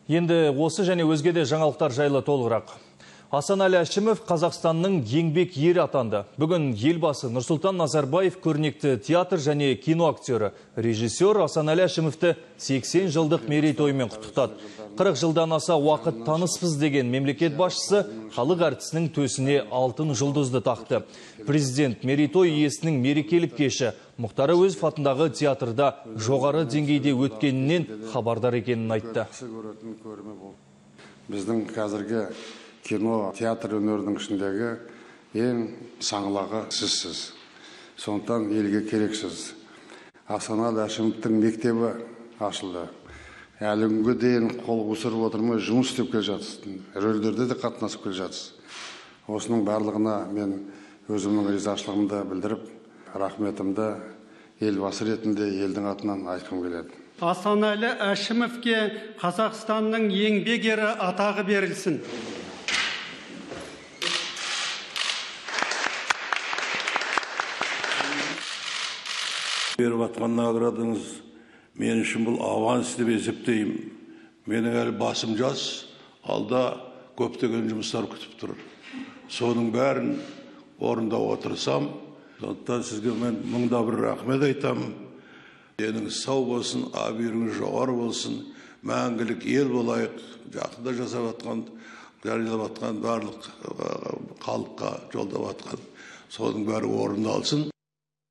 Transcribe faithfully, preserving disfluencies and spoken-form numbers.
Енді осы және өзге де жаңалықтар жайлы толығырақ. Асанәлі Әшімов Қазақстанның еңбек ері атанды. Бүгін елбасы Нұрсұлтан Назарбаев көрнекті театр және кино актері, режиссер Асанәлі Әшімовті сексен жылдық мерейтоймен құттықтады. қырық жылдан аса уақыт таныспыз деген мемлекет басшысы халық әртісінің төсіне алтын жұлдызды тақты. Президент мерейтой иесінің мерекелік кеші Мұхтар Әуезов атындағы театрда жоғары деңгейде өткенінен хабардар екенін айтты. Біздің қазіргі кино, театр өнерінің ішіндегі ең саңлағы сізсіз. Сондықтан елге керексіз. Асанәлі Әшімовтің мектебі ашылды. Әлі күнге дейін қол қусырып отырмай жұмыс істеп келе жатырсыз. Рөлдерде де қатынасып келе жатырсыз. Осының барлығына мен өзімнің ризашылығымды білдіріп, рахметімді елбасы ретінде елдің атынан айтқым келеді. Асанәлі Әшімовке Қазақстанның еңбек ері атағы берілсін. Беріп атқан наградыңыз мен үшін бұл аванс деп есептеймін. Менің әлі басым жас, алда көптеген жұмыстар күтіп тұр. Соның бәрін орындауға отырсам, сондықтан сізге мен мыңда бір рахмет айтамын. Деніңіз сау болсын, абыройыңыз жоғары болсын, мәңгілік ел болайық. Жақында жасап атқан, жариялап атқан барлық халыққа жолдап атқан, соның бәрі орындалсын.